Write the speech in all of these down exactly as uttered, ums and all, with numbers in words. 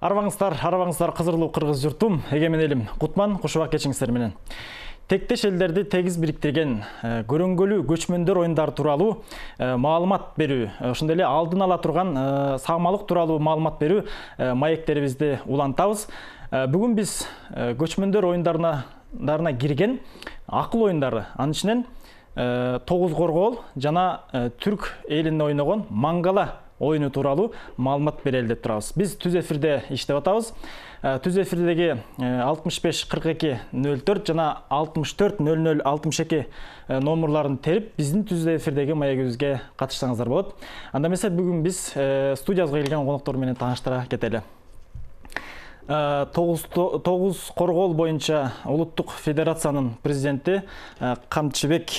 Арбаңыздар, арбаңыздар кызырлуу кыргыз журтум, эгемен элим Кутман, кушубак кечиңиздер менен. Тектеш элдерди тегиз бириктирген көрөнгөлүү көчмөндөр оюндары тууралуу маалымат берүү, ошондой эле алдын ала турган саамалык тууралуу маалымат берүү маектерибизди улантабыз. Бүгүн биз көчмөндөр оюндарына кирген акыл оюндары, анын ичинен тогуз коргоол жана түрк элинде ойногон мангала оюну тууралуу маалымат берели деп турабыз. Биз түз эфирде иштеп атабыз. Түз эфирдеги алтымыш беш кырк эки нөл төрт жана алтымыш төрт нөл нөл алтымыш эки номерларын терип, биздин түз эфирдеги маегибизге катышсаңыздар болот. Анда эмесе бүгүн биз студиябызга келген коноктор менен тааныштыра кетели. тогуз коргоол боюнча улуттук федерациянын президенти Камчыбек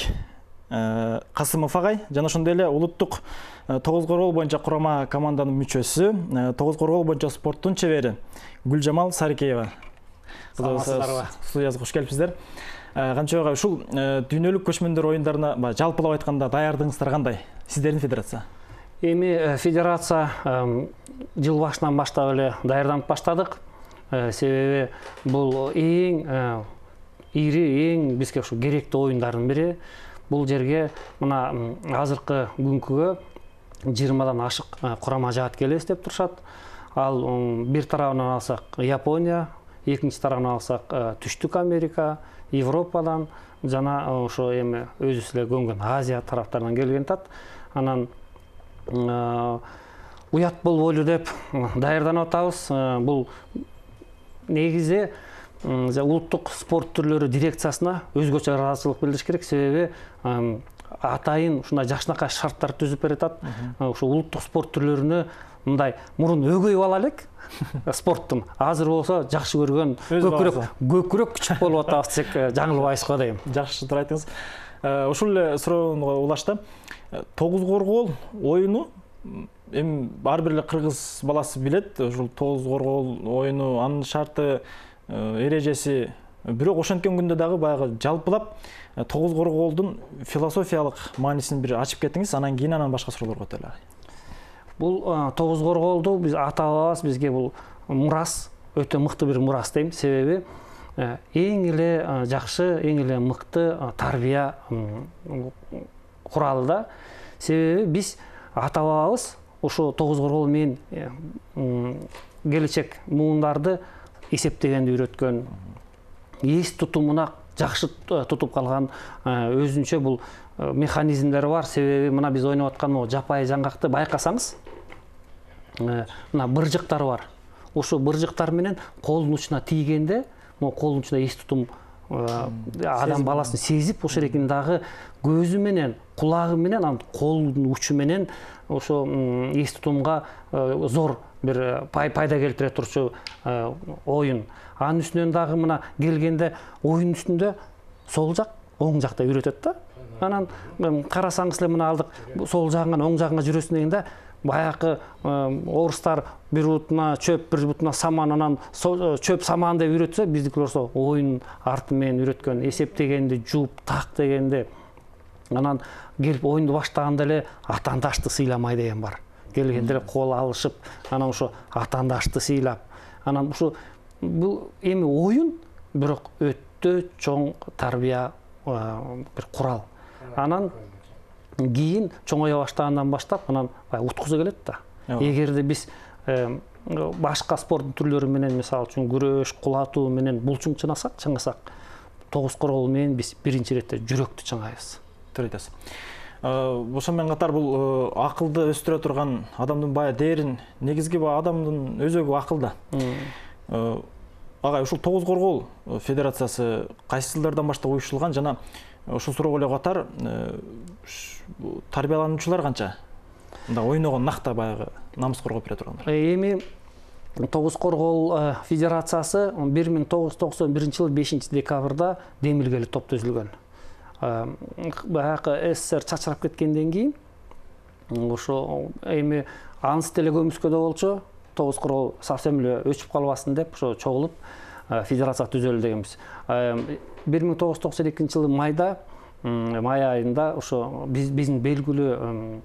Касымов агай жана ошондой эле улуттук тогуз коргоол боюнча курама команданын мүчөсү, тогуз коргоол боюнча спорттун чебери Гүлжамал Сарыкеева. Студиябызга кош келипсиздер. Камчыбек агай, ушул дүйнөлүк көчмөндөр оюндарына жалпылап айтканда даярдыгыңыздар кандай? Сиздердин федерация? Эми федерация жыл башынан баштап эле даярданып баштадык. Себеби бул эң ири, эң бизге ушу керектүү оюндардын бири. Бул жерге мына азыркы күнкүгө жыйырмадан ашык курама жаат келебиз деп турушат. Ал бир тарабынан алсак Япония, экинчи тарабынан алсак Түштүк Америка, Европадан жана ошо эми өзүбүз эле көнгөн Азия тараптарынан келген тат. Анан уят болбойлу деп даярданып атабыз. Бул негизи улуттук спорт түрлөрү дирекциясына өзгөчө ыраазычылык билдириш керек. Себеби атайын ушундай жакшынакай шарттар түзүп берет. Ушу улуттук спорт түрлөрүнө мындай мурун өгөй бала элек спорттун, азыр болсо жакшы көргөн көкүрөк көкүрөк күчүк болуп атабыз десек жаңылбайбызго дейм. Жакшы туура айттыңыз. Ушул эле суроону улашты. Тогуз коргоол оюну эми ар бир эле кыргыз баласы билет. Ушул тогуз коргоол оюну, анын шарты, эрежеси, бирок ошенткен күндө дагы баягы жалпылап тогуз коргоолдун философиялык маанисин бир ачып кетиңиз, анан кийин анан башка суроолорго өтөлү. Бул тогуз коргоолду биз ата-бабабыз бизге бул мурас, өтө мыкты бир мурас дейм. Себеби эң эле жакшы, эң эле мыкты тарбия куралы да. Себеби биз ата-бабабыз ошо тогуз коргоол менен келечек муундарды эсептегенди үйрөткөн, эс тутумуна жакшы тутуп калган өзүнчө бул механизмдери бар. Себеби мына биз ойноп аткан могу жапайы жаңгакты байкасаңыз, мына быржыктар бар. Ошо быржыктар менен колдун учуна тийгенде, могу колдун учуна эс тутум адам баласын сезип, ошол эркин дагы көзү менен, кулагы менен, анан колдун учу менен ошо эс тутумга зор бир пайда келтире турчу оюн. Анын үстүнөн дагы мына келгенде оюн үстүндө сол жак, оң жакта үйрөтөт да. Анан карасаңыз эле мына алдык сол жагыңан оң жагыңа жүрөсүң дегенде баягы орустар бир бутуна чөп, бир бутуна саман, анан чөп саман деп үйрөтсө, биздикилер болсо оюн арты менен үйрөткөн, эсептегенди, жууп так дегенде. Анан келип оюнду баштаганда эле атаандашты сыйламай деген бар. Келгенде эле кол алышып, анан ошо атаандашты сыйлап, анан ушу бул эми оюн, бирок өтө чоң тарбия бир курал. Анан кийин чоңое баштагандан баштап анан уткуза келет да. Эгерде биз башка спорт түрлөрү менен, мисалы үчүн күрөш, кулатуу менен булчуң чыңасак, чыңасак, тогуз коргоол менен биз биринчи иретте жүрөктү чыңайбыз. Туура айтасыз. Ошо менен катар бул акылды өстүрө турган адамдын бая дээрин, негизги адамдын өзөгү акылда. Агай, ушул тогуз коргоол федерациясы кайсы жылдардан баштап уюштурулган жана ушул суроого эле катар тарбиялануучулар канча? Мында ойногон накта баягы намыс коргоп бере тургандар. Эми тогуз коргоол федерациясы бир миң тогуз жүз токсон биринчи жылы бешинчи декабрда Демилгели топ түзүлгөн. Баягы СССР чачырап кеткенден кийин ошо эми ансы деле көмүскөдө болчу, тогуз коргоол совсем эле өчүп калбасын деп ошо чогулуп федерация түзөлү дегенбиз. бир миң тогуз жүз токсон экинчи жылы майда, май айында ошо биздин белгилүү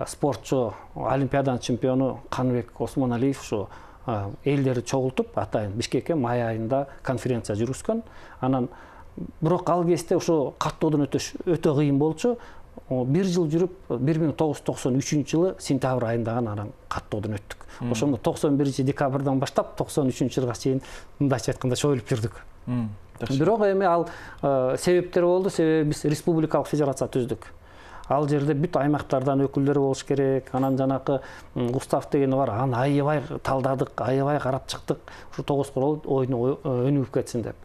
спортчу, олимпиаданын чемпиону Каныбек Осмоналиев ошо элдерди чогултуп атайын Бишкекке май айында конференция жүргүзгөн. Анан бирок ал кезде ошо каттоодон өтөш өтө кыйын болчу. Бир жыл жүрүп бир миң тогуз жүз токсон үчүнчү жылы сентябрь айында анан каттоодон өттүк. Ошондо токсон биринчи декабрдан баштап токсон үчүнчү жылга чейин мындайча айтканда чоюлуп жүрдүк. Бирок эми ал себептер болду. Себеби биз республикалык федерация түздүк. Ал жерде бүт аймактардан өкүлдөр болуш керек. Анан жанакы устав деген бар. Аны аябай талдадык, аябай карап чыктык. Ушу тогуз корол ойуну өнүгүп кетсин деп.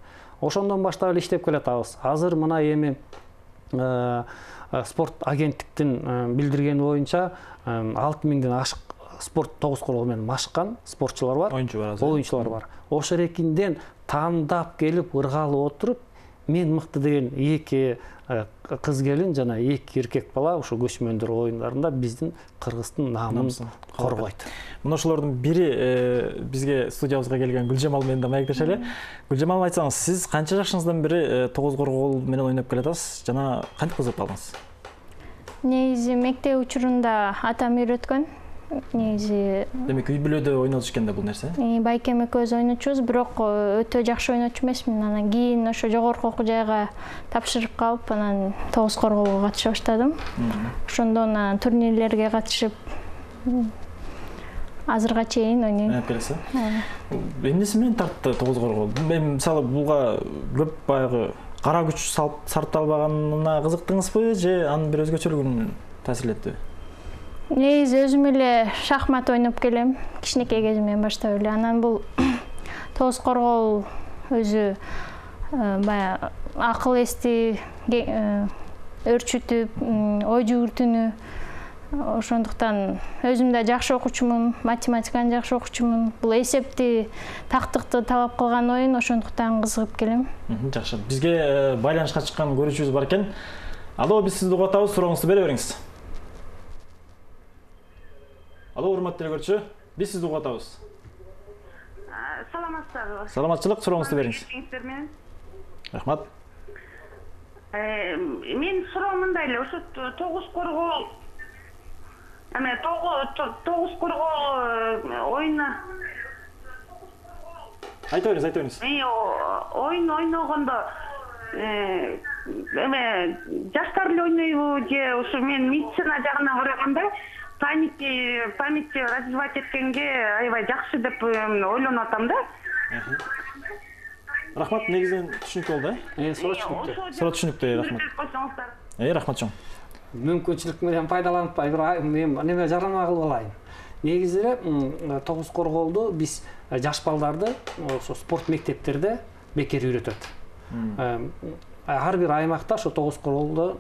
Ошондон баштап эле иштеп келатабыз. Азыр мына эми спорт агенттиктин билдиргени боюнча алты миңден ашык спорт тогуз корол менен машыккан спортчулар бар. Оюнчулар бар. Оюнчулар бар. Ошол эркинден тандап келип ыргалып отуруп, мен мыкты деген эки кыз келин жана эки эркек бала ошо көчмөндөр оюндарында биздин Кыргыздын наамын коргойт. Мына ошолордун бири бизге студиябызга келген Гүлжамал менен да маектешели. Гүлжамал, айтсаңыз, сиз канча жашыңыздан бери тогуз коргол менен ойноп келатасыз жана кантип кызыгып калдыңыз? Негизи мектеп учурунда атам үйрөткөн. Негизи Демек үй бүлөдө ойнотуш экен да бул нерсе? Байкем экөөбүз ойночубуз, бирок өтө жакшы ойночу эмесмин. Анан кийин ошо жогорку окуу жайга тапшырып калып, анан тогуз корголго катыша баштадым. Ошондон анан турнирлерге катышып азырга чейин ойнойм. Ойноп келесиз? Эмнеси менен тартты тогуз коргол? Мен мисалы буга көп баягы кара күч сарпталбаганына кызыктыңызбы же анын бир өзгөчөлүгүн таасирлеттиби? Негизи өзүм эле шахмат ойноп келем, кичинекей кезимден баштап эле. Анан бул тогуз коргол өзү баягы акыл эсти өөрчүтүп, ой жүгүртүүнү. Ошондуктан өзүм да жакшы окуучумун, математиканы жакшы окуучумун. Бул эсепти, тактыкты талап кылган оюн, ошондуктан кызыгып келем. Жакшы. Бизге байланышка чыккан көрүүчүбүз бар экен. Алло, биз сизди угуп атабыз, сурооңузду бере бериңиз. Алло, урматтуу көрүүчү, биз сизди угуп атабыз. Саламатсыздарбы? Саламатчылык, сурооңузду бериңиз. Рахмат. Мен суроом мындай эле, ошо тогуз коргол эме тогуз коргол оюну Айта бериңиз, айта бериңиз. Оюн ойногондо эме жаштар эле ойнойбу же ошо мен медицина жагына караганда памяти памятти развивать эткенге аябай жакшы деп ойлонуп атам да. Рахмат, негизинен түшүнүктүү болду, э? Суроо түшүнүктүү. Суроо түшүнүктүү, рахмат. Э, рахмат чоң. Мүмкүнчүлүк менен пайдаланып мен неме жарнама кылып алайын. Негизи эле тогуз корголду биз жаш балдарды ошо спорт мектептерде бекер үйрөтөт. Ар бир аймакта ошо тогуз корголдо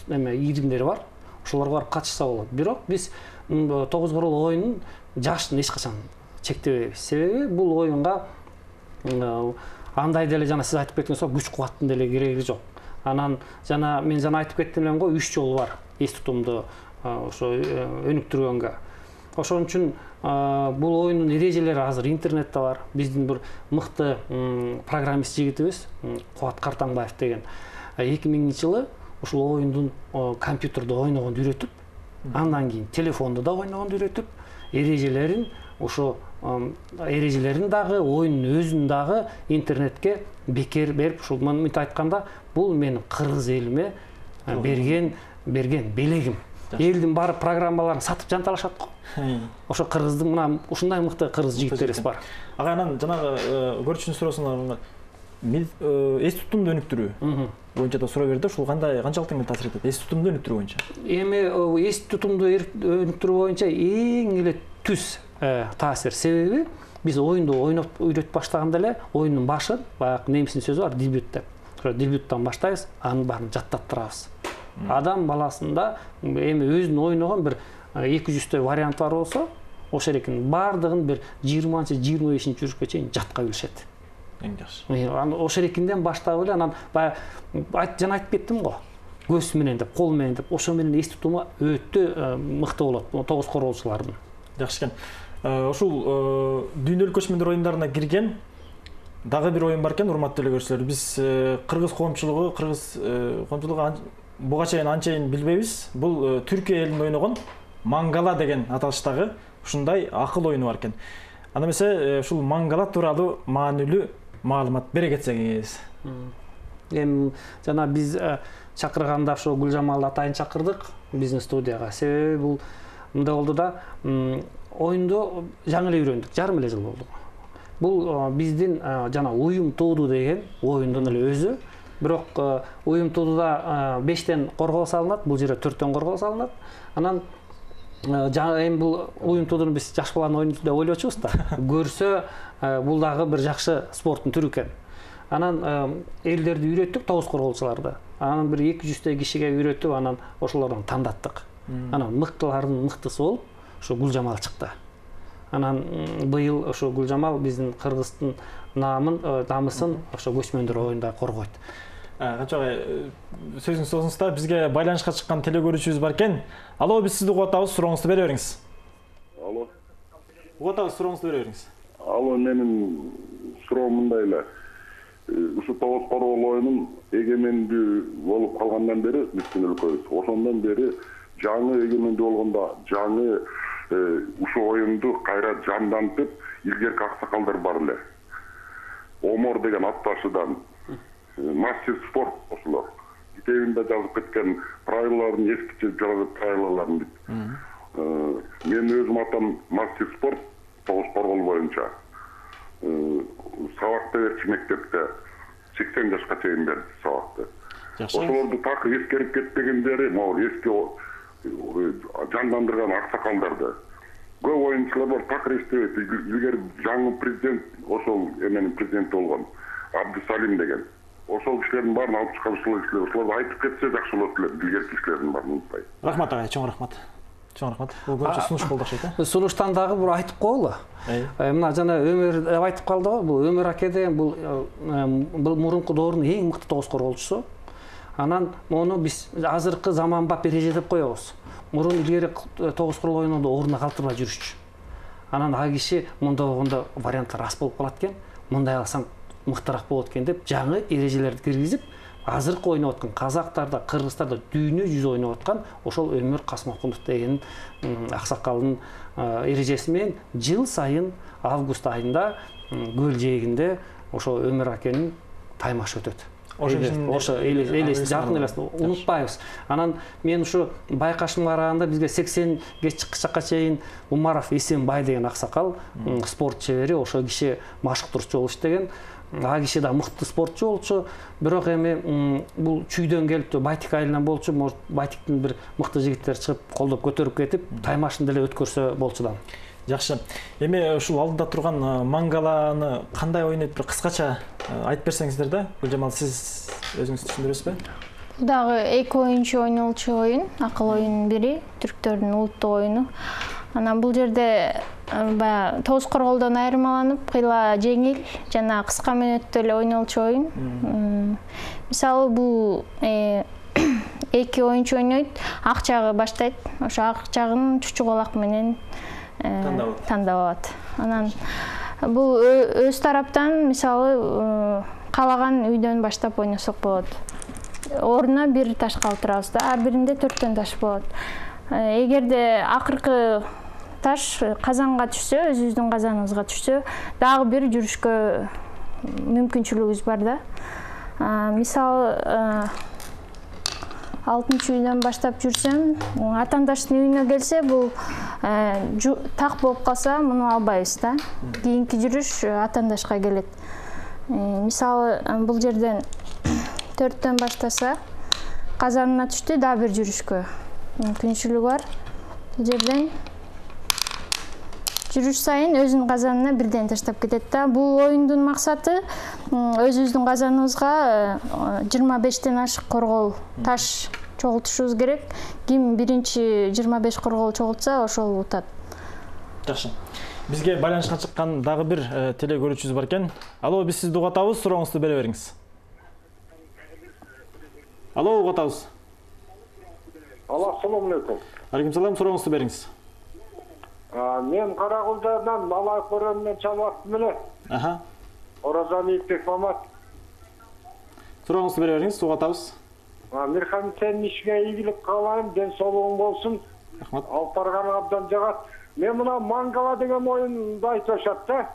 эме ийримдери бар. Ошолорго барып катышса болот. Бирок биз тогуз корол оюнун жашын эч качан чектебейбиз. Себеби бул оюнга андай деле жана сиз айтып кеткендей күч кубаттын деле кереги жок. Анан жана мен жана айтып кеттим элем го, үч жол бар эс тутумду ошо өнүктүргөнгө. Ошон үчүн бул оюндун эрежелери азыр интернетте бар. Биздин бир мыкты программист жигитибиз Кубат Картаңбаев деген эки миңинчи жылы ушул оюндун компьютерде ойногонду үйрөтүп, андан кийин телефондо да ойногонду үйрөтүп, эрежелерин ошо эрежелерин дагы оюндун өзүн дагы интернетке бекер берип, ушул мынтип айтканда, бул менин кыргыз элиме берген берген белегим. Элдин баары программаларын сатып жанталашат го. Ошо кыргыздын мына ушундай мыкты кыргыз жигиттерибиз бар. Ага, анан жанагы көрүүчүнүн суроосуна эс тутумду өнүктүрүү боюнча да суроо берди. Ушул кандай канчалык тең таасир этет? Эс тутумду өнүктүрүү боюнча. Эми эс тутумду өнүктүрүү боюнча эң эле түз таасир. Себеби биз оюнду ойноп үйрөтүп баштаганда эле оюндун башы, баягы немистин сөзү бар, дебют деп. Ошо дебюттан баштайбыз, анын баарын жаттаттырабыз. Адам баласында эми өзүнүн ойногон бир эки жүздөй варианттар болсо, ошол эркин баардыгын бир жыйырманчы жыйырма бешинчи жүрүшкө чейин жатка билишет. Эң жакшы. Анан ошол эркинден баштап эле анан баягы жана айтып кеттим го. Көз менен деп, кол менен деп, ошо менен эс тутуму өтө мыкты болот тогуз корголчулардын. Жакшы экен. Ушул дүйнөлүк көчмөндөр оюндарына кирген дагы бир оюн бар экен, урматтуу эле көрүүчүлөр. Биз кыргыз коомчулугу, кыргыз коомчулугу буга чейин анчейин билбейбиз. Бул Түркия элинде ойногон мангала деген аталыштагы ушундай акыл оюну бар экен. Анда эмесе ушул мангала тууралуу маанилүү маалымат бере кетсеңиз. Эми жана биз чакырганда ошо Гүлжамал атайын чакырдык биздин студияга. Себеби бул мындай болду да, оюнду жаңы эле үйрөндүк, жарым эле жыл болду. Бул биздин жана уюм тууду деген оюндун эле өзү. Бирок уюм туудуда бештен коргоо салынат, бул жерде төрттөн коргоо салынат. Анан эми бул уюм туудуну биз жаш баланын оюну деп ойлочубуз да. Көрсө бул дагы бир жакшы спорттун түрү экен. Анан элдерди үйрөттүк, тогуз корголчуларды. Анан бир эки жүздөй кишиге үйрөтүп, анан ошолордон тандаттык. Анан мыктылардын мыктысы болуп ошо Гүлжамал чыкты. Анан быйыл ошо Гүлжамал биздин Кыргыздын намын, намысын ошо көчмөндөр оюнда коргойт. Качагай сөзүңүз соңуңуз да бизге байланышка чыккан теле көрүүчүбүз бар экен. Алло, биз сизди угуп атабыз, сурооңузду бере бериңиз. Алло. Угуп атабыз, сурооңузду бере бериңиз. Алло, менин суроом мындай эле. Ушу тогуз коргол оюнун эгемендүү болуп калгандан бери биздин өлкөбүз, ошондон бери жаңы эгемендүү болгондо жаңы ушу оюнду кайра жандантып, илгерки аксакалдар бар эле. Омор деген атташыдан мастер спорт ошолор. Китебинде жазып кеткен правилаларын эскичип жазып правилаларын бит. Мен өзүм атам мастер спорт тогуз коргол боюнча. Сабакта берчи мектепте сексен жашка чейин берди сабакты. Ошолорду так эскерип кетпегендери, могу эски жандандырган аксакалдарды. Көп оюнчулар бар, так эстебейт. Илгери жаңы президент, ошол эменин президенти болгон Абдусалим деген. Ошол кишилердин баарын алып чыккан ушул кишилер, ошолорду айтып кетсе жакшы болот эле, илгерки кишилердин баарын унутпай. Рахмат агай, чоң рахмат. Чоң рахмат. Бул көчө сунуш болду окшойт, э? Сунуштан дагы бир айтып коелу. Мына жана Өмөр деп айтып калды го, бул Өмөр аке деген бул бул мурунку доордун эң мыкты тогуз корголчусу. Анан мону биз азыркы заманбап эреже деп коебуз. Мурун илгери тогуз коргол оюнунда ордуна калтырбай жүрүшчү. Анан ал киши мындай болгондо варианттар аз болуп калат экен. Мындай алсаң мыктыраак болот экен деп жаңы эрежелерди киргизип, азыркы ойноп аткан казактарда, кыргыздарда дүйнө жүзү ойноп аткан ошол Өмөр Касмокулов деген аксакалдын эрежеси менен жыл сайын август айында көл жээгинде ошо Өмөр акенин таймашы өтөт. Ошо элес жакын элес унутпайбыз. Анан мен ушу байкашымга караганда бизге сексенге чыккычакка чейин Умаров Эсенбай деген аксакал спорт чебери, ошо киши машыктыруучу болуп иштеген. А киши да мыкты спортчу болчу, бирок эми бул чүйдөн келип Байтик айылынан болчу, может Байтиктин бир мыкты жигиттери чыгып колдоп көтөрүп кетип, таймашын деле өткөрсө болчудан. Жакшы. Эми ушул алдыда турган мангаланы кандай ойнойт, бир кыскача айтып берсеңиздер да. Гүлжамал, сиз өзүңүз түшүндүрөсүзбү? Бул дагы эки оюнчу ойнолчу оюн, акыл оюнунун бири, түрктөрдүн улуттук оюну. Анан бул жерде баягы тогуз корголдон айырмаланып, кыйла жеңил жана кыска мөөнөттө эле ойнолчу оюн. Мисалы бул эки оюнчу ойнойт, ак жагы баштайт. Ошо ак жагын чучугалак менен тандап алат. Анан бул өз тараптан мисалы каалаган үйдөн баштап ойносок болот. Ордуна бир таш калтырабыз да, ар биринде төрттөн таш болот. Эгерде акыркы таш казанга түшсө, өзүбүздүн казаныбызга түшсө, дагы бир жүрүшкө мүмкүнчүлүгүбүз бар да. Мисалы алтынчы үйдөн баштап жүрсөм, атаандаштын үйүнө келсе, бул так болуп калса, муну албайбыз да. Кийинки жүрүш атаандашка келет. Мисалы бул жерден төрттөн баштаса, казанына түштү, дагы бир жүрүшкө мүмкүнчүлүгү бар. Бул жерден жүрүш сайын өзүнүн казанына бирден таштап кетет да. Бул оюндун максаты өзүбүздүн казаныбызга жыйырма бештен ашык коргол таш чогултушубуз керек. Ким биринчи жыйырма беш коргол чогултса, ошол утат. Жакшы. Бизге байланышка чыккан дагы бир теле көрүүчүбүз бар экен. Алло, биз сизди угуп атабыз, сурооңузду бере бериңиз. Алло, угуп атабыз. Алло, assalamu alaikum. Алейкум салам, сурооңузду бериңиз. Мен Карагулдадан бала көрөмүнөн чалып эле. Аха. Оразаны иптек Мамат. Сурооңузду бере бериңиз, угуп атабыз. Мирхан, сен ишиңе ийгилик каалайм, ден соолугуң болсун. Рахмат. Алып барганың абдан жагат. мен мына мангала деген оюнду айтып атышат да.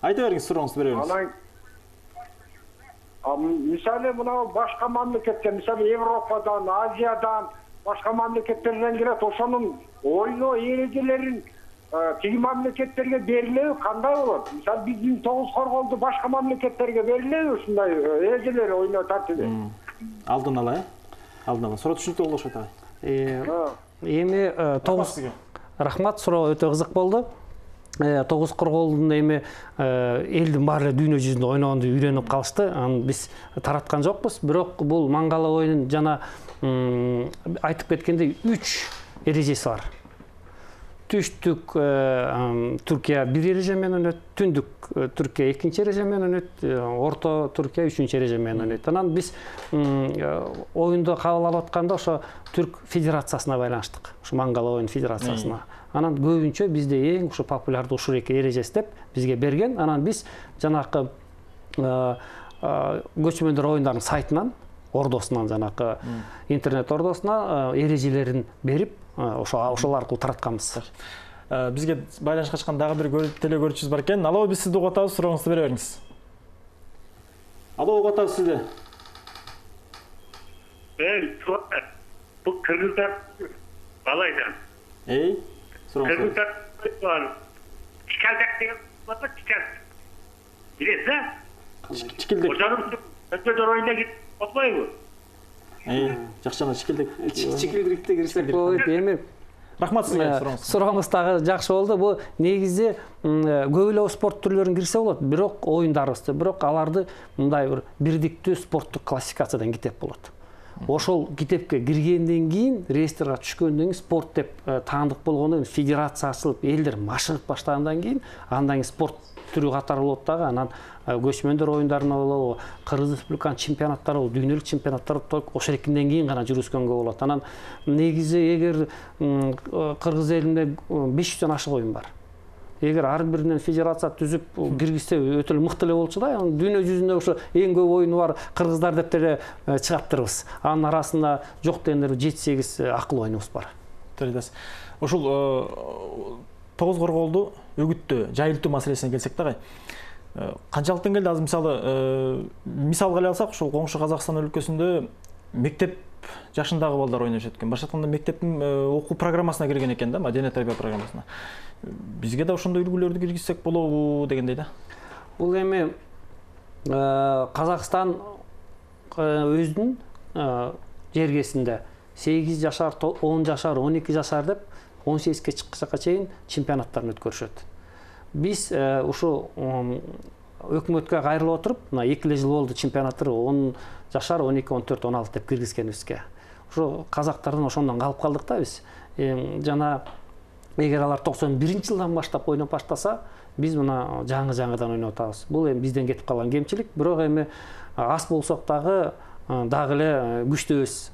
Айта бериңиз, сурооңузду бере бериңиз. Анан мисалы мына башка мамлекеттер, мисалы Европадан, Азиядан, башка мамлекеттерден келет, ошонун ойноо эрежелерин тиги мамлекеттерге берилеби, кандай болот? Мисалы биздин тогуз корголду башка мамлекеттерге берилеби ушундай эрежелер ойноо тартиби? Алдын ала, э? Алдын ала. Суроо түшүнүктүү болду окшойт агай. Эми тогуз рахмат, суроо өтө кызык болду. Тогуз корголдун эми элдин баары дүйнө жүзүндө ойногонду үйрөнүп калышты. Аны биз тараткан жокпуз. Бирок бул мангала оюнун жана айтып кеткендей үч эрежеси бар. Түштүк Түркия бир эреже менен өнөт, түндүк Түркия экинчи эреже менен өнөт, орто Түркия үчүнчү эреже менен өнөт. Анан биз оюнду кабыл алып атканда ошо Түрк Федерациясына байланыштык. Ошо мангала оюн федерациясына. Анан көбүнчө бизде эң ушу популярдуу ушул эки эрежеси деп бизге берген. Анан биз жанакы көчмөндөр оюндарынын сайтынан, ордосунан, жанакы интернет ордосуна эрежелерин берип, ошол аркылуу таратканбыз. Бизге байланышка чыккан дагы бир теле көрүүчүбүз бар экен. Алло, биз сизди угуп атабыз, сурооңузду бере бериңиз. Алло, угуп атабыз сизди. Эй, бул кыргыздар балайдан. Эй, сурооңузду. Кыргыздар бар. Чикалдак деген бар, чикалдак. Билесиз, а? Чикилдек. Ошонун көчмөндөр оюнуна кирип болбойбу? Эй, жакшы, чикилдек. Чикилдикте кирсек болот. Эми рахмат сизге сурооңуз. Сурооңуз дагы жакшы болду. Бул негизи көп эле спорт түрлөрүн кирсе болот, бирок оюндарыбызды, бирок аларды мындай бир бирдиктүү спорттук классификациядан китеп болот. Ошол китепке киргенден кийин, реестрге түшкөндөн кийин спорт деп таандык болгондон кийин федерация ачылып, элдер машыгып баштагандан кийин, андан кийин спорт түрү катары болот дагы. Анан көчмөндөр оюндарына болобу, Кыргыз Республиканын чемпионаттары болобу, дүйнөлүк чемпионаттар ошол экинден кийин гана жүргүзгөнгө болот. Анан негизи эгер Кыргыз элинде беш жүздөн ашык оюн бар. Эгер ар биринен федерация түзүп киргизсе өтө эле мыкты эле болчу да. Дүйнө жүзүндө ошо эң көп оюну бар кыргыздар деп деле чыгаптырбыз. Анын арасында жок дегенде жети сегиз акыл оюнубуз бар. Төрөйдүс. Ушул тогуз корголду үгүттөө, жайылтуу маселесине келсек дагы, канчалык деңгээлде азыр мисалы мисалга эле алсак, ушул коңшу Казакстан өлкөсүндө мектеп жашындагы балдар ойношот экен. Башка айтканда мектептин окуу программасына кирген экен да, маданий тарбия программасына. Бизге да ошондой үлгүлөрдү киргизсек болобу дегендей да. Бул эми Казакстан өзүнүн жергесинде сегиз жашар, он жашар, он эки жашар деп он сегизге чыккыча чейин чемпионаттарын өткөрүшөт. Биз ушу өкмөткө кайрылып отуруп, мына эки жыл болду чемпионаттар он жашар, он эки, он төрт, он алты деп киргизгенибизге. Ушу казактардан ошондон калып калдык да биз. Жана эгер алар токсон биринчи жылдан баштап ойноп баштаса, биз мына жаңы-жаңыдан ойноп атабыз. Бул эми бизден кетип калган кемчилик, бирок эми аз болсок дагы дагы эле күчтүүбүз.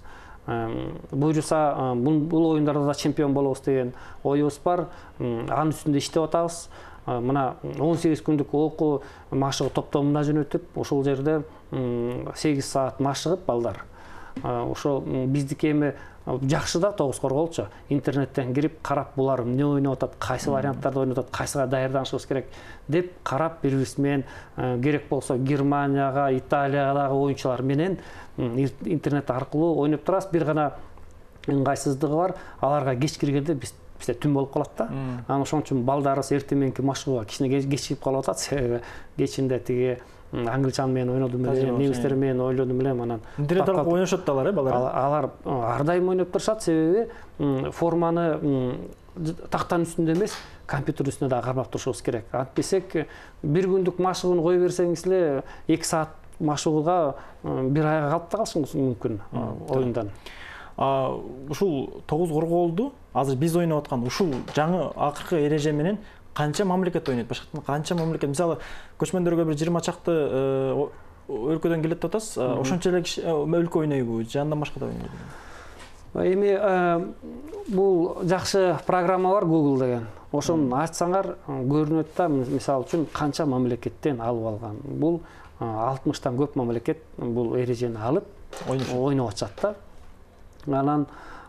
Буюрса бул оюндарда да чемпион болобуз деген оюбуз бар. Анын үстүндө иштеп атабыз. Мына он сегиз күндүк окуу машыгуу топтомуна жөнөтүп, ошол жерде сегиз саат машыгып балдар. Ошо биздики эми жакшы да тогуз корголчу. Интернеттен кирип карап, булар эмне ойноп атат, кайсы варианттарды ойноп атат, кайсыга даярданышыбыз керек деп карап, бири-бирибиз менен керек болсо Германияга, Италиядагы оюнчулар менен интернет аркылуу ойноп турабыз. Бир гана ыңгайсыздыгы бар, аларга кеч киргенде биз бизде түн болуп калат да. Анан ошон үчүн балдарыбыз эртең мененки машыгууга кичине кечигип калып атат. Себеби кечинде тиги англичан менен ойнодум элем, немистер менен ойлодум элем, анан интернет аркылуу ойношот да алар, э, балдар. Алар ар дайым ойноп турушат, себеби форманы тактанын үстүндө эмес, компьютер үстүнө да кармап турушубуз керек. Антпесек бир күндүк машыгууну кое берсеңиз эле эки саат машыгууга бир айга калып да калышыңыз мүмкүн оюндан. Ушул тогуз корголду азыр биз ойноп аткан ушул жаңы акыркы эреже менен канча мамлекет ойнойт? Башка канча мамлекет? Мисалы, көчмөндөргө бир жыйырма чакты өлкөдөн келет деп атасыз. Ошончо эле өлкө ойнойбу? Же андан башка да ойнойбу? Эми бул жакшы программа бар, Google деген. Ошону ачсаңар көрүнөт да, мисалы үчүн канча мамлекеттен алып алган. Бул алтымыштан көп мамлекет бул эрежени алып ойноп атышат да. Анан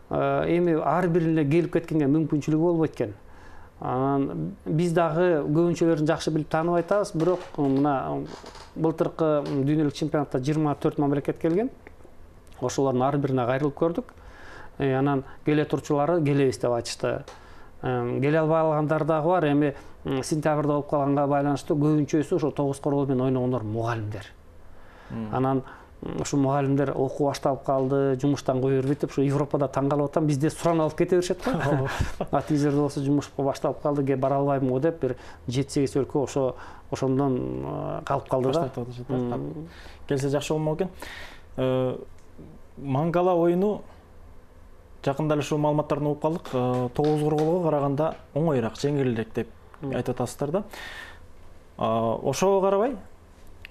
эми ар бирине келип кеткенге мүмкүнчүлүгү болбойт экен. Анан биз дагы көбүнчөлөрүн жакшы билип таанып айтабыз, бирок мына былтыркы дүйнөлүк чемпионатта жыйырма төрт мамлекет келген. Ошолордун ар бирине кайрылып көрдүк. Анан келе турчулары келебиз деп айтышты. Келе албай калгандар дагы бар. Эми сентябрда болуп калганга байланыштуу көбүнчөсү ошо тогуз коргол менен ойногондор мугалимдер. Анан ушу мугалимдер окуу башталып калды, жумуштан кое бербейт деп, ушу Европада таң калып атам, бизде суран алып кете беришет го. А тиги жерде болсо жумушка башталып калды, ке бара албайм го деп, бир жети сегиз өлкө ошо ошондон калып калды да. Келсе жакшы болмок экен. Мангала оюну жакында эле ушул маалыматтарды угуп калдык. тогуз корголго караганда оңоюраак, жеңилирээк деп айтып атасыздар да. Ошого карабай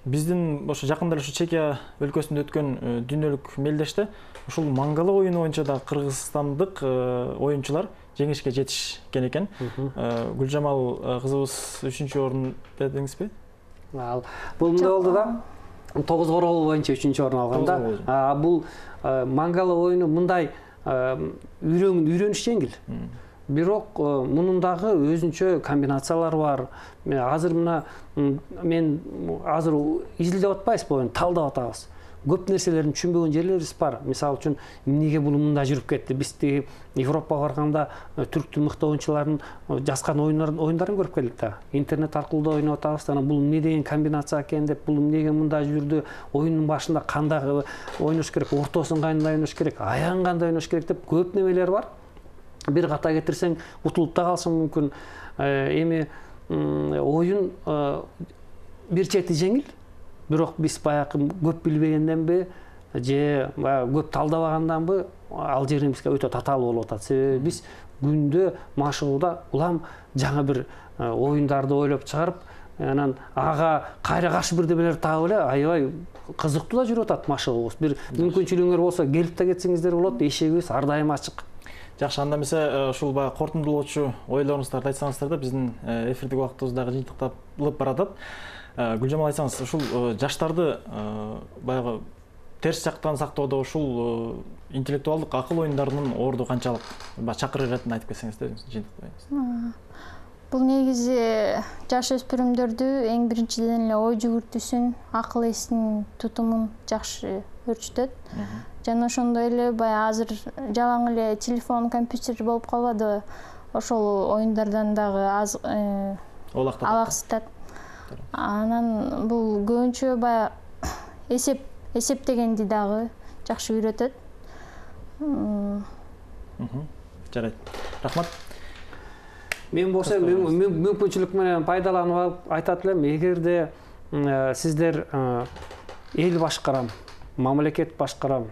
биздин ошо жакында эле ушу Чекия өлкөсүндө өткөн дүйнөлүк мелдеште ушул мангала оюну боюнча да кыргызстандык оюнчулар жеңишке жетишкен экен. Гүлжамал кызыбыз үчүнчү орун дедиңизби? Ал бул мындай болду да. тогуз коргол боюнча үчүнчү орун алган да. Бул мангала оюну мындай үйрөнүш жеңил. Бирок мунун дагы өзүнчө комбинациялары бар. Азыр мына мен азыр изилдеп атпайбыз, боюн талдап атабыз. Көп нерселерин түшүнбөгөн жерлерибиз бар. Мисалы үчүн эмнеге бул мындай жүрүп кетти? Биз тиги Европага барганда түрктүн мыкты оюнчуларынын жазган оюндарын көрүп келдик да. Интернет аркылуу да ойноп атабыз. Анан бул эмне деген комбинация экен деп, бул эмнеге мындай жүрдү? Оюндун башында кандай ойнош керек, ортосун кандай ойнош керек, аягын кандай ойнош керек деп көп немелер бар. Бир ката кетирсең утулуп да калышың мүмкүн. Эми оюн бир чети жеңил, бирок биз баягы көп билбегенденби же көп талдабаганданбы ал жерин бизге өтө татаалуу болуп атат. Себеби биз күндө машыгууда улам жаңы бир оюндарды ойлоп чыгарып, анан ага кайра каршы бирдемелерди таап эле аябай кызыктуу да жүрүп атат машыгуубуз. Бир мүмкүнчүлүгүңөр болсо келип да кетсеңиздер болот, эшигибиз ар дайым ачык. Жакшы, анда эмесе ушул баягы кортундулоочу ойлоруңуздарды айтсаңыздар да, биздин эфирдик убактыбыз дагы жыйынтыкталып баратат. Гүлжамал, айтсаңыз, ушул жаштарды баягы терс жактан сактоодо ушул интеллектуалдык акыл оюндарынын орду канчалык? Чакырык иретинде айтып кетсеңиз да, жыйынтыктайбыз. Бул негизи жаш өспүрүмдөрдү эң биринчиден эле ой жүгүртүүсүн, акыл эсин тутумун жакшы өөрчүтөт. Жана ошондой эле баягы азыр жалаң эле телефон, компьютер болуп калбадыбы? Ошол оюндардан дагы аз алаксытат. Анан бул көбүнчө баягы эсеп эсептегенди дагы жакшы үйрөтөт. Жарайт. Рахмат. Мен болсо мүмкүнчүлүк менен пайдаланып алып айтат элем, эгерде сиздер эл башкарам, мамлекет башкарам,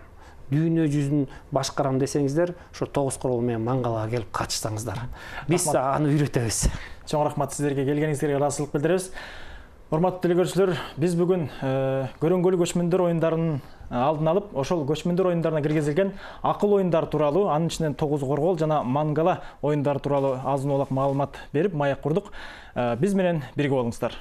дүйнө жүзүн башкарам десеңиздер, ошо тогуз коргол менен мангалага келип катышсаңыздар. Биз аны үйрөтөбүз. Чоң рахмат сиздерге, келгениңизге ыраазычылык билдиребиз. Урматтуу телекөрүүчүлөр, биз бүгүн көрөнгөлүү көчмөндөр оюндарынын алдын алып, ошол көчмөндөр оюндарына киргизилген акыл оюндары тууралуу, анын ичинен тогуз коргол жана мангала оюндары тууралуу азын улак маалымат берип, маек курдук. Биз менен бирге болуңуздар.